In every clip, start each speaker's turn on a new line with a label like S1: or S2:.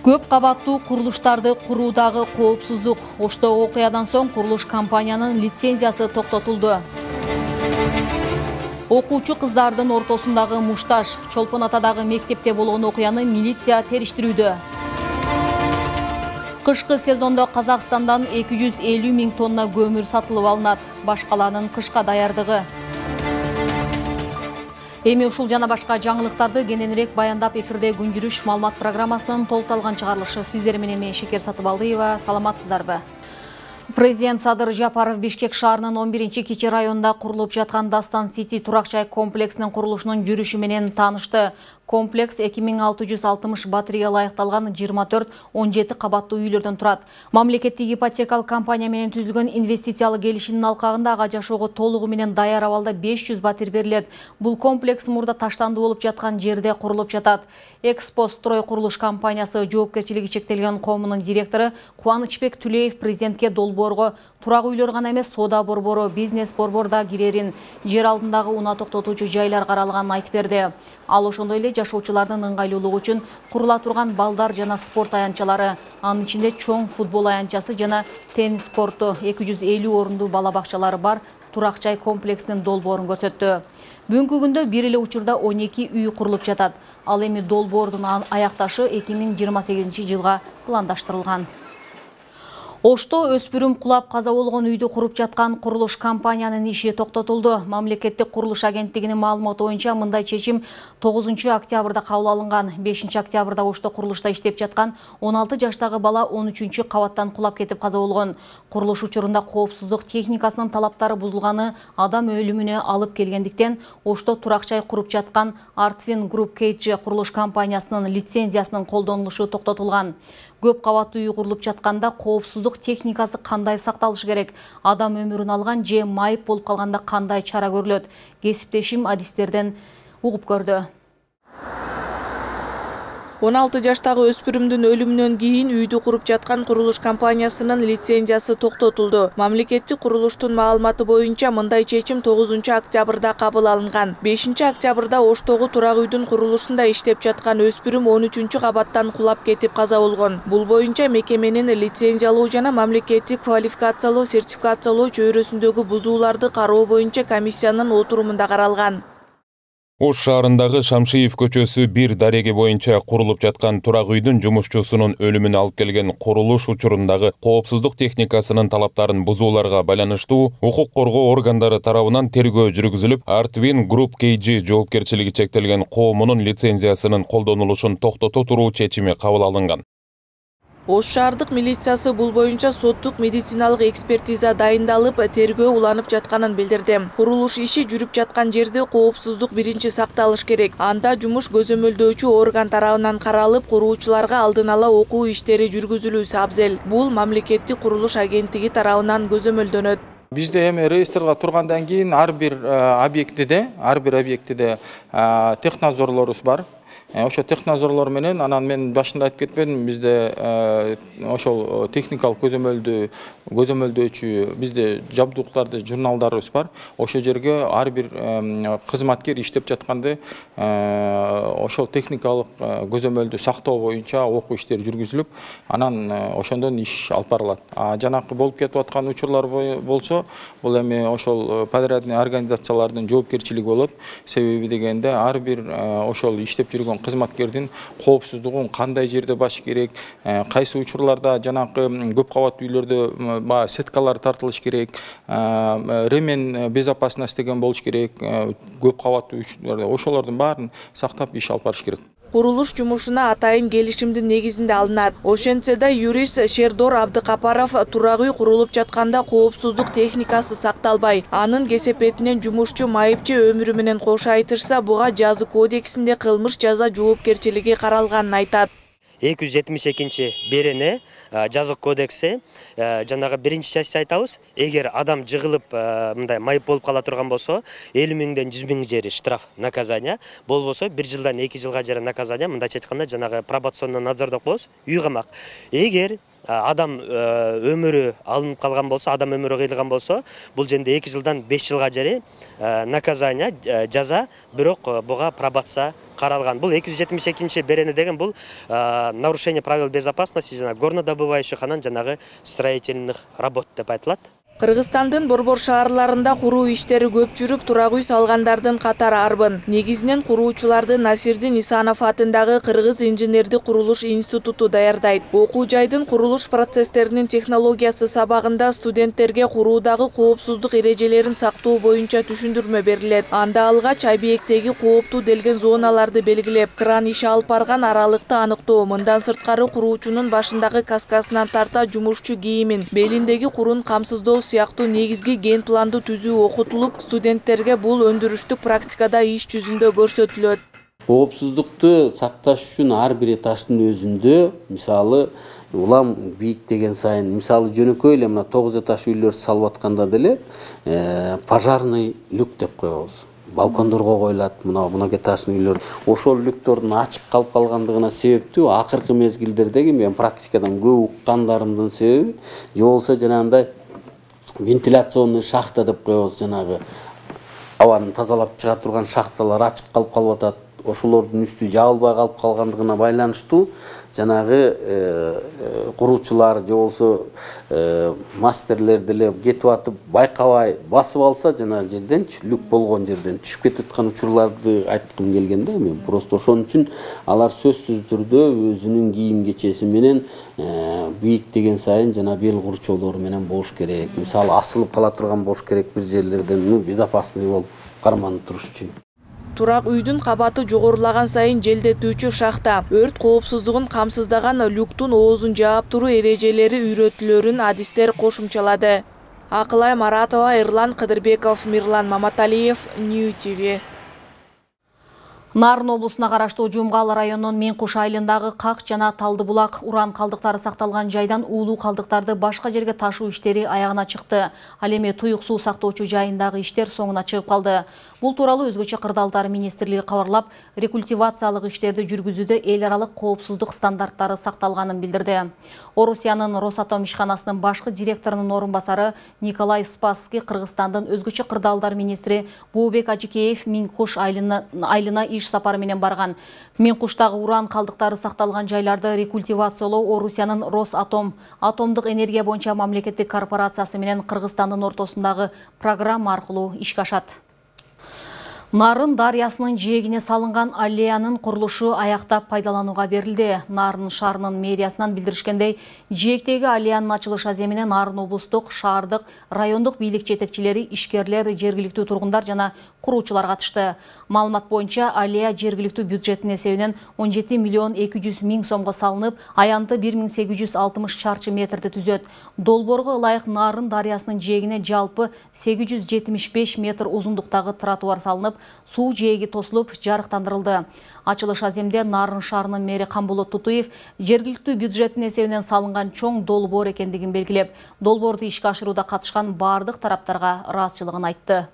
S1: Көп кабаттуу курулуштарды куруудагы коопсуздук. Ошто окуядан соң курулуш компаниянын лицензиясы токтотулду. Окуучу кыздардын ортосундагы мушташ. Чолпон Атадагы мектепте болгон окуяны милиция териштирүүдө. Кышкы сезондо Казакстандан 250 000 тонна көмүр сатылып алынат. Башкаланын кышка даярдыгы. Эми ушул жана башка жаңылыктарды кененирээк баяндап эфирде күн жүрүш маалымат программасынын толукталган чыгарылышы. Сиздер менен мен Шекер Сатыбалдыева. Саламатсыздарбы? Президент Садыр Жапаров Бишкек шаарынын 11-кичи районунда курулуп жаткан Дастан Сити турак-жай комплексинин курулушунун жүрүшү менен таанышты. Комплекс 2660 батарея лайыкталган 24-17 кабаттуу үйлөрдөн турат. Мамлекеттик ипотекалык компания менен түзүлгөн инвестициялык келишимдин алкагында ага жашоого толугу менен даяр абалда 500 батир берилет. Бул комплекс мурда таштандуу болуп жаткан жерде курулуп жатат. Экспо строй курулуш компаниясы жоопкерчилиги чектелген коомунун директору Кубанычбек Түлеев президентке долбоорго турак үйлөр гана эмес, соода борбору, бизнес борбор да кирерин, жер алдындагы унаа токтотуучу жайлар каралганын айтып берди. Ал ошондой эле жашоочулардын ыңгайлуулугу үчүн курула турган балдар жана спорт аянтчалары, анын ичинде чоң футбол аянтчасы жана теннис корту, 250 орундуу бала бакчалары бар турак-жай комплексинин долбоорун көрсөттү. Бүгүнкү күндө бир эле учурда 12 үй курулуп жатат. Ал эми долбоордун аякташы 2028 жылга пландаштырылган. Ошто өспүрүм кулап каза болгон үйдү куруп жаткан курулуш компаниянын иши токтотулду. Мамлекеттик курулуш агенттигинин маалыматы боюнча мындай чечим 9 октябрда кабыл алынган. 5 октябрда Ошто курулушта иштеп жаткан 16 жаштагы бала 13 кабаттан кулап кетип каза болгон. Курулуш учурунда коопсуздук техникасынын талаптары бузулганы адам өлүмүнө алып келгендиктен Ошто турак-жай куруп жаткан Artvin Group KG курулуш компаниясынын лицензиясынын колдонулушу токтотулган. Көп кабаттуу үй курулуп жатканда коопсуздук техникасы кандай сакталышы керек? Адам өмүрүн алган же майып болуп калганда кандай чара көрүлөт? Кесиптешим адистерден угуп көрдү.
S2: 16 жаштагы өспүрүмдүн өлүмүнөн кийин үйдү куруп жаткан курулуш компаниясынын лицензиясы токтотулду. Мамлекеттик курулуштун маалыматы боюнча мындай чечим 9 октябрда кабыл алынган. 5 октябрда Оштогу турак үйдүн курулушунда иштеп жаткан өспүрүм 13 кабаттан кулап кетип каза болгон. Бул боюнча мекеменин лицензиялоо жана мамлекеттик квалификациялоо сертификациялоо чөйрөсүндөгү бузууларды кароо боюнча комиссиянын отурумунда каралган.
S3: Ош шаарындагы Шамшиев көчөсү 1 дареги боюнча курулуп жаткан турак үйдүн жумушчусунун өлүмүнө алып келген курулуш учурундагы коопсуздук техникасынын талаптарын бузууларга байланыштуу укук коргоо органдары тарабынан тергөө жүргүзүлүп, Artvin Group KG жоопкерчилиги чектелген коомунун лицензиясынын колдонулушун токтото туруу чечими кабыл алынган.
S2: Ош шаардык милициясы бул боюнча соттук медициналык экспертиза дайындалып, тергөө уланып жатканын билдирди. Курулуш иши жүрүп жаткан жерде коопсуздук биринчи сакталыш керек. Анда жумуш көзөмөлдөөчү орган тарабынан каралып, куруучуларга алдын ала окуу иштери жүргүзүлүүсү абзел. Бул мамлекеттик курулуш агенттиги тарабынан көзөмөлдөнөт.
S4: Бизде эми реестрге тургандан кийин ар бир объектиде технадзорлорубуз бар. Ошо технадзорлор менен анан мен башында айтып кетпедим, бизде ошол техникалык көзөмөлдөөчү бизде жабдуулуктарды журналдарыбыз бар. Ошол жерге ар бир кызматкер иштеп жатканды ошол техникалык көзөмөлдү сактоо боюнча окуу иштери жүргүзүлүп, анан ошондон иш алып барылат. Жанакы болуп кетип аткан учурлар болсо, бул эми ошол подрядный организациялардын жоопкерчилиги болот. Себеби дегенде ар бир ошол иштеп жүргөн кызматкердин коопсуздугун кандай жерде баш керек, кайсы учурларда жанакы көп кабаттуу үйлөрдө сеткалар тартылыш керек, ремен безопасность деген болуш керек, көп кабаттуу үйлөрдө ошолордун баарын сактап иш алып барыш керек.
S2: Курулуш жумушуна атайын келишимдин негизинде алынат. Ошентсе да юрист Шердор Абдыкапаров турак үй курулуп жатканда коопсуздук техникасы сакталбай, анын кесепетинен жумушчу майыпчы өмүрү менен кошо айтышса, буга жазы кодексинде кылмыш жаза жоопкерчилиги каралганын айтат.
S5: 272 берене жазык кодекси жанагы биринчи частьта айтабыз, эгер адам жыгылып мындай майып болуп кала турган болсо 50 миңден 100 миң жери штраф наказание, болбосо 1 жылдан 2 жылга жери наказание, мындайча айтканда жанагы пробационный надзор деп коебуз, үй камак. Эгер адам өмүрү алынып калган болсо, адам өмүрү кыйылган болсо, бул жерде 2 жылдан 5 жылга жери наказание, жаза, бирок буга пробация каралган. Бул 272 берене деген бул нарушение правил безопасности жана горнодобывающих анан жанагы строительных работ деп айтылат.
S2: Кыргызстандын борбор шаарларында куруу иштери көп жүрүп, турак үй салгандардын катары арбын. Негизинен куруучуларды Насирдин Исанов атындагы Кыргыз инженердик курулуш институту даярдайт. Окуу жайдын курулуш процесстеринин технологиясы сабагында студенттерге куруудагы коопсуздук эрежелерин сактоо боюнча түшүндүрмө берилет. Анда алгач объекттеги кооптуу делген зоналарды белгилеп, кран иши алып барган аралыкты аныктоо, мындан сырткары куруучунун башындагы каскасынан тарта жумушчу кийимин, белиндеги курун камсыздоо сыяктуу негизги ген планды түзүү окутулуп, студенттерге бул өндүрүштүк практикада иш жүзүндө көрсөтүлөт.
S6: Коопсуздукту сакташ үчүн ар бир этаждын өзүндө, мисалы, улам бийиктеген сайын, мисалы жөнөкөй эле мына 9 этаж үйлөрдү салып атканда деле пожарный люк деп коебуз. Балкондорго коюлат, мына этаждын үйлөр. Ошол люктордун ачык калып калгандыгына себептүү акыркы мезгилдердеги мен практикадан көп уккандарымдын себеби, же болбосо жанагындай вентиляционный шахта деп коебуз, жанагы абаны тазалап чыга турган шахталар ачык калып атат. Ошолордун үстү жабылбай калып калгандыгына байланыштуу жанагы куруучулар же болсо мастерлер деле кетип атып байкабай басып алса, жанагы жерден люк болгон жерден түшүп кетип аткан учурларды айткым келген да мен. Просто ошон үчүн алар сөзсүз түрдө өзүнүн кийим кечеси менен бийиктеген сайын жана бел курчоолору менен болуш керек. Мисалы асылып кала турган болуш керек бир жерлерден, безопасный болуп карманып туруш үчүн.
S2: Турак үйдүн кабаты жогорулаган сайын желдетүүчү шахта, өрт коопсуздугун камсыздаган люктун оозун жаап туруу эрежелери үйрөтүлөрүн адистер кошумчалады. Акылай Маратова, Эрлан Кыдырбеков, Мирлан Маматалиев, Нью ТВ.
S1: Нарын облусуна караштуу Жумгал районунун Менкуш айылындагы Как жана Талдыбулак уран калдыктары сакталган жайдан уулуу калдыктарды башка жерге ташуу иштери аягына чыкты. Ал эми туюк суу сактоочу жайындагы иштер соңуна чыгып калды. Бул тууралуу өзгөчө кырдаалдар министрлиги кабарлап, рекультивациялык иштерди жүргүзүүдө эл аралык коопсуздук стандарттары сакталганын билдирди. Орусиянын Росатом ишканасынын башкы директорунун орун басары Николай Спасский Кыргызстандын өзгөчө кырдаалдар министри Бообек Ажикеев Менкуш айылына иш сапары менен барган. Менкуштагы уран калдыктары сакталган жайларды рекультивациялоо Орусиянын Росатом атомдук энергия боюнча мамлекеттик корпорациясы менен Кыргызстандын ортосундагы программа аркылуу ишке ашат. Нарын дарыясынын жээгине салынган аллеянын курулушу аяктап пайдаланууга берилди. Нарын шаарынын мэриясынан билдиришкендей, жээктеги аллеянын ачылыш аземине Нарын облустук, шаардык, райондук бийлик жетекчилери, ишкерлер, жергиликтүү тургундар жана куруучулар катышты. Маалымат боюнча аллея жергиликтүү бюджеттин эсебинен 17 миллион 200 миң сомго салынып, аянты 1860 чарчы метрди түзөт. Долбоорго ылайык Нарын дарыясынын жээгине жалпы 875 метр узундуктагы тротуар салынып, суу жээги тосулуп, жарыктандырылды. Ачылыш аземде Нарын шаарынын мэри Камболот Тутуев жергиликтүү бюджеттин эсебинен салынган чоң долбоор экендигин белгилеп, долбоорду ишке ашырууда катышкан бардык тараптарга ыраазычылыгын айтты.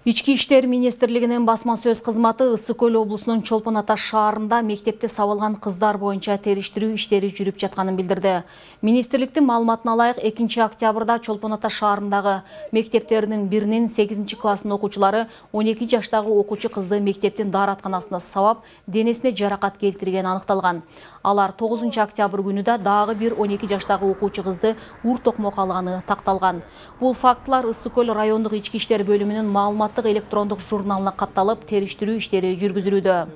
S1: Ички иштер министрлигинин басма сөз кызматы Ысык Көл облусунун Чолпон Ата шаарында мектепте сабылган кыздар боюнча териштирүү иштери жүрүп жатканын билдирди. Министрликтин маалыматына ылайык 2 октябрда Чолпон Ата шаарындагы мектептеринин биринин 8-класстын окуучулары 12 жаштагы окуучу кызды мектептин дааратканасында сабап, денесине жаракат келтирген аныкталган. Алар 9 октябрь күнү да дагы бир 12 жаштагы окуучу кызды ур токмок алганы такталган. Бул фактылар Ысык Көл райондук ички иштер бөлүмүнүн маалыматтык электрондук журналына катталып, териштирүү иштери жүргүзүлүүдө.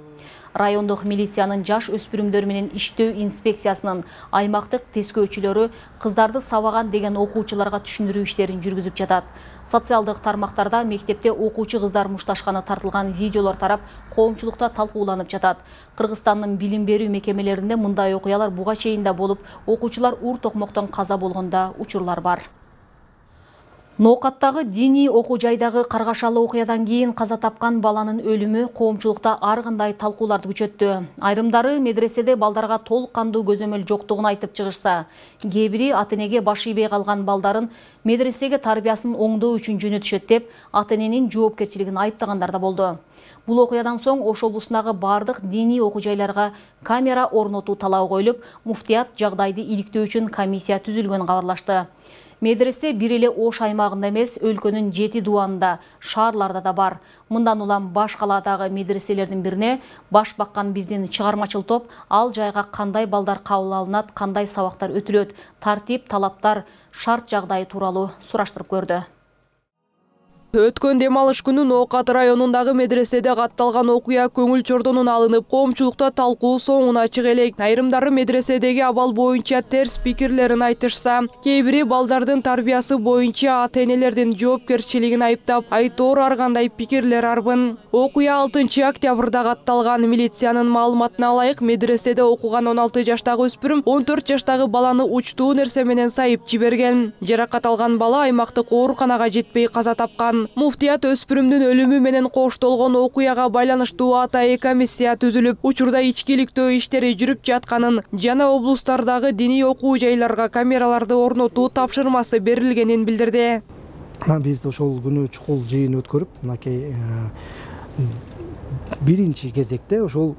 S1: Райондук милициянын жаш өспүрүмдөр менен иштөө инспекциясынын аймактык тескөөчүлөрү кыздарды сабаган деген окуучуларга түшүндүрүү иштерин жүргүзүп жатат. Социалдык тармактарда мектепте окуучу кыздар мушташканы тартылган видеолор тарап, коомчулукта талкууланып жатат. Кыргызстандын билим берүү мекемелеринде мындай окуялар буга чейин да болуп, окуучулар ур токмоктон каза болгонда учурлар бар. Ноокаттагы диний окуу жайдагы каргашалы окуядан кийин каза тапкан баланын өлүмү коомчулукта ар кандай талкууларды күчөттү. Айрымдары медреседе балдарга толук кандуу көзөмөл жоктугун айтып чыгышса, кээ бири ата-энеге баш ийбей калган балдарын медресеге тарбиясын оңдоо үчүн жөнөтүшөт деп ата-эненин жоопкерчилигин айыптагандар да болду. Бул окуядан соң Ош облусундагы бардык диний окуу жайларга камера орнотуу талабы коюлуп, муфтият жагдайды иликтөө үчүн комиссия түзүлгөнүн кабарлашты. Медресе бир эле Ош аймагында эмес, өлкөнүн 7 дубанында, шаарларда да бар. Мындан улам баш калаадагы медреселердин бирине баш баккан биздин чыгармачыл топ ал жайга кандай балдар кабыл алынат, кандай сабактар өтүлөт, тартип, талаптар, шарт жагдайы тууралуу сураштырып көрдү.
S2: Өткөн дем алыш күнү Ноокат районундагы медреседе катталган окуя көңүл чордонун алынып, коомчулукта талкуу соңуна чыга элек. Айрымдары медреседеги абал боюнча терс пикирлерин айтышса, кээ бири балдардын тарбиясы боюнча ата-энелердин жоопкерчилигин айыптап, айтоор ар кандай пикирлер арбын. Окуя 6 октябрда катталган. Милициянын маалыматына ылайык, медреседе окуган 16 жаштагы өспүрүм 14 жаштагы баланы учтуу нерсе менен сайып жиберген. Жаракат алган бала аймактык ооруканага жетпей каза тапкан. Муфтият өспүрүмдүн өлүмү менен коштолгон окуяга байланыштуу атайы комиссия түзүлүп, учурда ичкиликтөө иштери жүрүп жатканын жана облустардагы диний окуу жайларга камераларды орнотуу тапшырмасы берилгенин билдирди.
S7: Биз ошол күнү чукул жыйын өткөрүп, мынакей биринчи кезекте ошол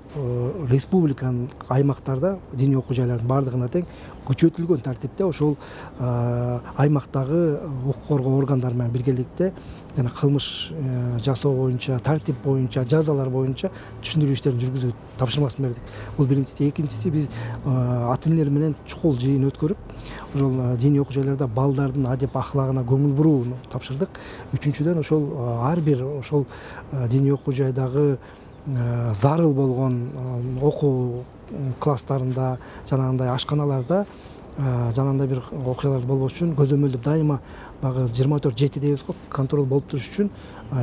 S7: республиканын аймактарда диний окуу жайлардын бардыгына тең күчөтүлгөн тартипте ошол аймактагы укук коргоо органдары менен биргеликте жана кылмыш жасоо боюнча, тартип боюнча, жазалар боюнча түшүндүрүү иштерин жүргүзүү тапшырмасын бердик. Бул биринчиси. Экинчиси, биз ата-энелер менен чукул жыйын өткөрүп, ошол диний окуу жайларда балдардын адеп ахлагына көңүл бурууну тапшырдык. Үчүнчүдөн, ошол ар бир ошол диний окуу жайдагы зарыл болгон окуу класстарында, жанагындай ашканаларда жанагындай бир окуялар болбош үчүн көзөмөлдөп дайыма багы 24/7 дейбиз го, контроль болуп туруш үчүн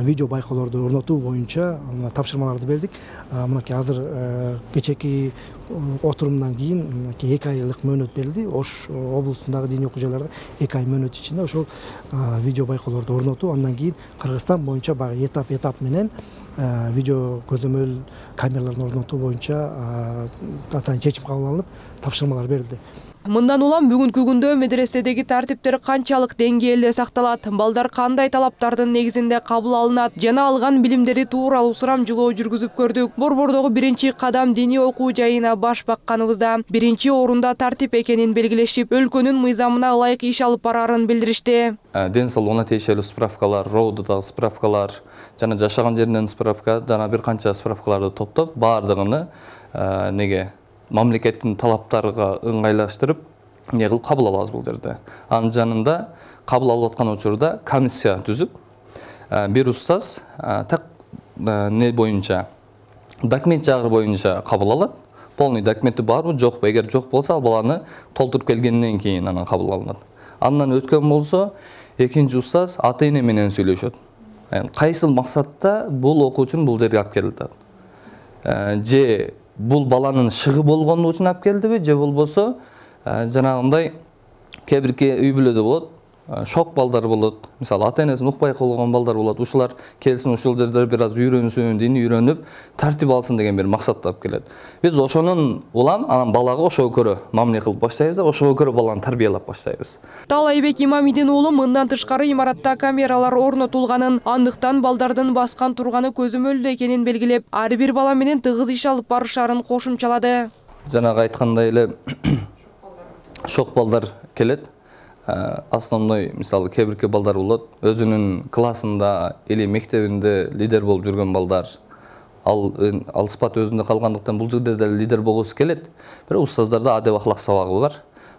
S7: видео байкоолорду орнотуу боюнча тапшырмаларды бердик. Мынакей азыр кечээки отурумдан кийин 2 айлык мөөнөт берилди. Ош облусундагы диний окуу жайларда 2 ай мөөнөт ичинде ошол видео байкоолорду орнотуу, андан кийин Кыргызстан боюнча багы этап менен видео көзөмөл камераларын орнотуу боюнча атайын чечим кабыл алынып, тапшырмалар берилди. Мындан улам бүгүнкү күндө медреседеги тартиптер канчалык деңгээлде сакталат, балдар кандай талаптардын негизинде кабыл алынат жана алган билимдери тууралуу сурамжылоо жүргүзүп көрдүк. Борбордогу биринчи кадам диний окуу жайына баш бакканыбызда биринчи орунда тартип экенин белгилешип, өлкөнүн мыйзамына ылайык иш алып барарын билдиришти.
S8: Ден соолугуна тиешелүү справкалар, РОУдагы справкалар, жана жашаган жеринен справка, жана бир канча справкаларды топтоп, баардыгыны мамлекеттин талаптарга ыңгайлаштырып, кылып кабыл алабыз бул жерде. Анын жанында кабыл алып аткан учурда комиссия түзүп, бир устаз так боюнча, документ жагы боюнча кабыл алат. Полный документи барбы, жокпу? Эгер жок болсо, ал баланы толтуруп келгенден кийин анан кабыл алынат. Андан өткөн болсо, экинчи устаз ата-эне менен сүйлөшөт. Кайсыл максатта бул окуучуну бул жерге алып келди? Же бул баланын шыгы болгону үчүн алып келдиби, же болбосо жанагындай кээ бир үй бүлөдө болот, шок балдар болот. Мисалы, ата-энесин укпай калган балдар болот. Ушулар келсин, ушул жерде бир аз үйрөнсүн, дини үйрөнүп, тартип алсын деген бир максатта алып келет. Биз ошонун улам анан балага ошого көрө мамиле кылып баштайбыз, ошого көрө баланы тарбиялап баштайбыз.
S2: Талайбек Имамидин уулу мындан тышкары имаратта камералар орнотулганын, андыктан балдардын баскан турганы көзөмөлдө экенин белгилеп, ар бир бала менен тыгыз иш алып барышарын кошумчалады.
S8: Жанагы айткандай эле шок балдар келет. Основной, мисалы, кээ балдар болот, өзүнүн классында или мектебинде лидер болуп жүргөн балдар. Ал сыпат өзүндө калгандыктан бул жерде да лидер болгусу келет. Бирок устаздарда адеп ахлак сабагы бар.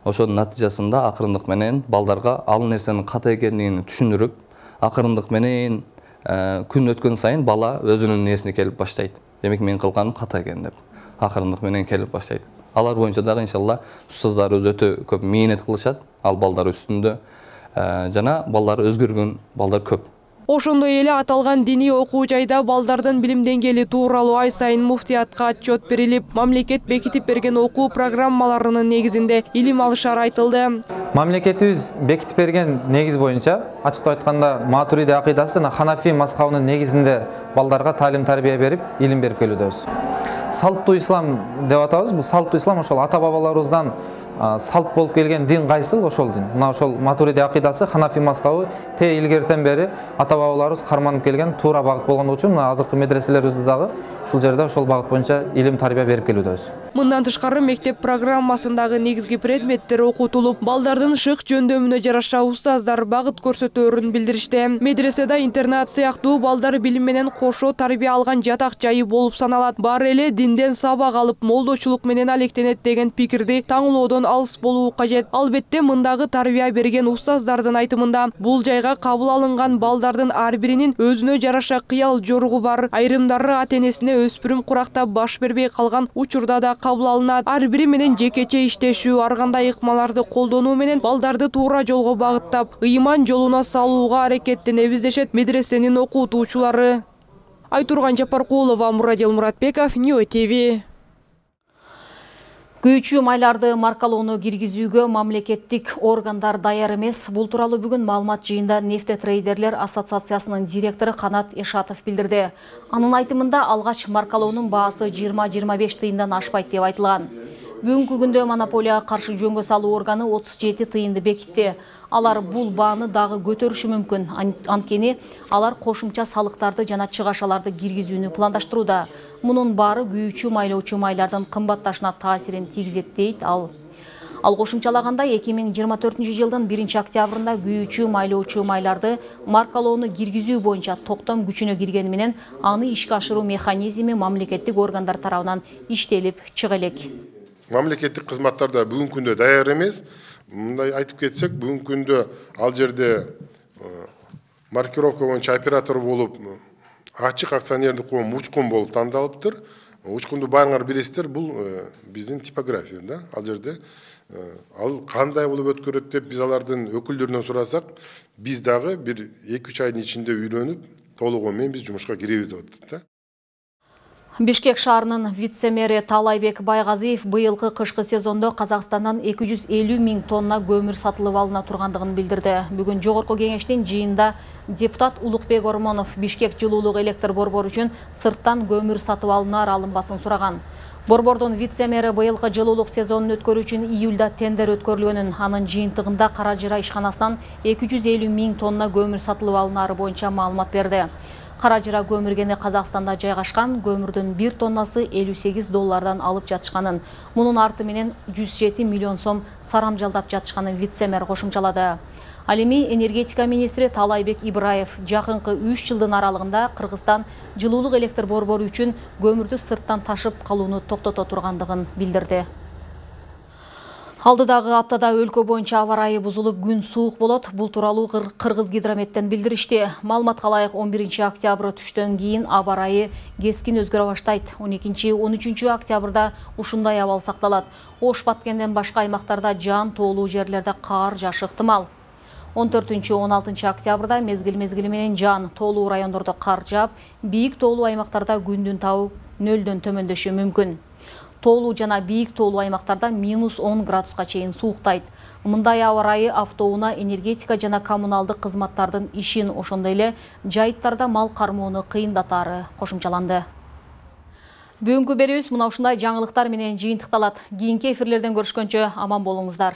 S8: Ошонун натыйжасында акырындык менен балдарга ал нерсенин ката экендигин түшүндүрүп, акырындык менен күн өткөн сайын бала өзүнүн несине келип баштайт. Демек, мен кылганым ката экен деп акырындык менен келип баштайт. Алар боюнча дагы иншалла устаздарыбыз өтө көп мээнет кылышат ал балдар үстүндө. Жана балдар өзгөргөн балдар көп.
S2: Ошондой эле аталган диний окуу жайда балдардын билим деңгээли тууралуу ай сайын муфтиятка отчет берилип, мамлекет бекитип берген окуу программаларынын негизинде илим алышары айтылды.
S9: Мамлекетибиз бекитип берген негиз боюнча, ачыктап айтканда, Матуриди акыйдасы жана Ханафи мазхабынын негизинде балдарга таалим тарбия берип, илим берип келүүдөбүз. Салттуу ислам деп атабыз. Бул салттуу ислам ошол ата бабаларыбыздан салт болуп келген дин кайсыл? Ошол дин. Мына ошол Матуриди акыйдасы, Ханафи мазхабы те илгертен бери ата бабаларыбыз карманып келген туура багыт болгондугу үчүн мына азыркы медреселерибизде дагы ушул жерде ошол багыт боюнча илим тарбия берип келүүдөбүз.
S2: Мындан тышкары мектеп программасындагы негизги предметтер окутулуп, балдардын шык жөндөмүнө жараша устаздар багыт көрсөтөөрүн билдиришти. Медреседе интернат сыяктуу балдар билим менен кошо тарбия алган жатак жайы болуп саналат. Баары эле динден сабак алып, молдочулук менен алектенет деген пикирди таңлоодон алыс болуу кажет. Албетте мындагы тарбия берген устаздардын айтымында бул жайга кабыл алынган балдардын ар биринин өзүнө жараша кыял жоругу бар. Айрымдары ата-энесине өспүрүм куракта баш бербей калган учурда да кабыл алынат. Ар бири менен жекече иштешүү, ар кандай ыкмаларды колдонуу менен балдарды туура жолго багыттап, ыйман жолуна салууга аракеттенебиз дешет медресенин окутуучулары. Айтурган Жапаркулова, Мурадил Муратбеков, Ньюс ТВ.
S1: Күйүүчү майларды маркалоону киргизүүгө мамлекеттик органдар даяр эмес. Бул тууралуу бүгүн маалымат жыйында Нефтетрейдерлер ассоциациясынын директору Канат Эшатов билдирди. Анын айтымында алгач маркалоонун баасы 20-25 тыйындан ашпайт деп айтылган. Бүгүнкү күндө монополияга каршы жөнгө салуу органы 37 тыйынды бекитти. Алар бул бааны дагы көтөрүшү мүмкүн. Анткени алар кошумча салыктарды жана чыгашаларды киргизүүнү пландаштырууда. Мунун баары күйүүчү майлоочу майлардын кымбатташына таасирин тийгизет дейт ал. Ал кошумчалагандай 2024 жылдын 1 октябрында күйүүчү майлоочу майларды маркалоону киргизүү боюнча токтом күчүнө киргени менен аны ишке ашыруу механизми мамлекеттик органдар тарабынан иштелип чыга элек.
S10: Мамлекеттик кызматтар да бүгүнкү күндө даяр эмес. Мындай айтып кетсек, бүгүнкү күндө ал жерде маркировка боюнча оператор болуп, ачык акционердик коом Учкун болуп тандалыптыр. Учкунду баарыңар билесиздер, бул биздин типография да. Ал жерде ал кандай болуп өткөрөт деп биз алардын өкүлдөрүнөн сурасак, биз дагы бир 2-3 айдын ичинде үйрөнүп, толугу менен биз жумушка киребиз деп атат да.
S1: Бишкек шаарынын вице-мэри Талайбек Байгазиев быйылкы кышкы сезондо Казакстандан 250 000 тонна көмүр сатылып алына тургандыгын билдирди. Бүгүн жогорку кеңештин жыйында депутат Улукбек Ормонов Бишкек жылуулук электр борбору үчүн сырттан көмүр сатып алынаар алынбасын сураган. Борбордун вице-мэри быйылкы жылуулук сезонун өткөрүү үчүн июлда тендер өткөрүлгөнүн, анын жыйынтыгында Каражыра ишканасынан 250 000 тонна көмүр сатылып алынаары боюнча маалымат берди. Каражыра көмүргени Казакстанда жайгашкан, көмүрдүн 1 тоннасы $58 алып жатышканын, мунун арты менен 107 миллион сом сарамжалдап жатышканын вице-мэр кошумчалады. Ал эми энергетика министри Талайбек Ибраев жакынкы 3 жылдын аралыгында Кыргызстан жылуулук электр борбору үчүн көмүрдү сырттан ташып калууну токтото тургандыгын билдирди. Алдыдагы аптада өлкө боюнча аба ырайы бузулуп, күн суук болот. Бул тууралуу Кыргыз гидрометтен билдиришти. Маалыматка ылайык 11 октябрь түштөн кийин аба ырайы кескин өзгөрө баштайт. 12-13 октябрда ушундай абал сакталат. Ош Баткенден башка аймактарда жаан тоолуу жерлерде каар жаашы ыктымал. 14-16 октябрда мезгил менен жаан тоолуу райондордо кар жаап, бийик тоолуу аймактарда күндүн табы 0-дөн төмөндөшү мүмкүн. Тоолуу жана бийик тоолуу аймактарда -10 градуска чейин сууктайт. Мындай аба ырайы автоунаа, энергетика жана коммуналдык кызматтардын ишин, ошондой эле жайыттарда мал кармоону кыйындатаары кошумчаланды. Бүгүнкү берүүбүз мына ушундай жаңылыктар менен жыйынтыкталат. Кийинки эфирлерден көрүшкөнчө аман болуңуздар.